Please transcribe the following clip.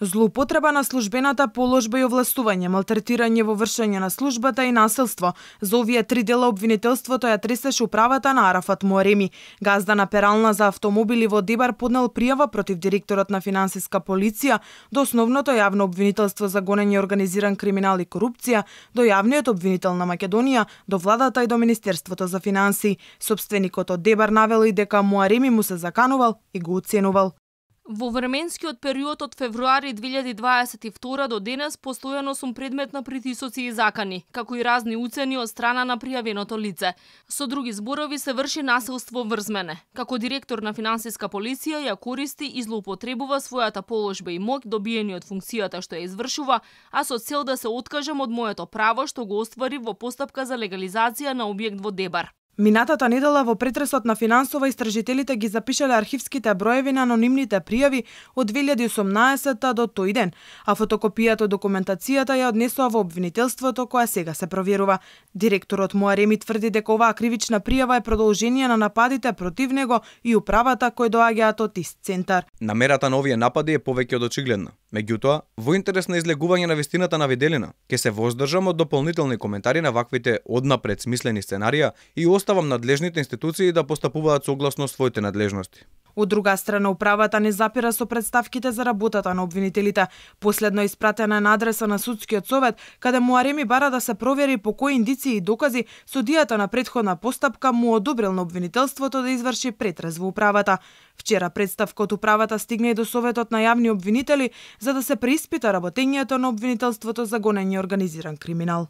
Злоупотреба на службената положба и овластување, малтретирање во вршење на службата и насилство. За овие три дела обвинителството ја тресеше управата на Арафат Муареми. Газда на перална за автомобили во Дебар поднел пријава против директорот на финансиска полиција до основното јавно обвинителство за гонење организиран криминал и корупција, до јавниот обвинител на Македонија, до владата и до Министерството за финансии. Сопственикот од Дебар навел и дека Муареми му се заканувал и го уценувал. Во временскиот период од февруари 2022 до денес постојано сум предмет на притисоци и закани, како и разни уцени од страна на пријавеното лице. Со други зборови се врши насилство врз мене. Како директор на финансиска полиција ја користи и злоупотребува својата положба и моќ добиени од функцијата што ја извршува, а со цел да се откажам од моето право што го оствари во постапка за легализација на објект во Дебар. Минатата недела во претресот на финансова истражителите ги запишале архивските броеви на анонимните пријави од 2018 до тој ден, а фотокопијата од документацијата ја однесува во обвинителството која сега се проверува. Директорот Муареми тврди дека оваа кривична пријава е продолжение на нападите против него и управата кои доаѓаат од ист центар. Намерата на овие напади е повеќе од очигледна. Меѓутоа, во интерес на излегување на вистината на виделина, ќе се воздржам од дополнителни коментари на ваквите однапред смислени сценарија и оставам надлежните институции да постапуваат согласно своите надлежности. Од друга страна, управата не запира со представките за работата на обвинителите. Последно испратена на адреса на судскиот совет, каде Муареми бара да се провери по кои индиции и докази судијата на претходна постапка му одобрил на обвинителството да изврши претрес во управата. Вчера представка од управата стигна и до Советот на јавни обвинители за да се преиспита работењето на обвинителството за гонење организиран криминал.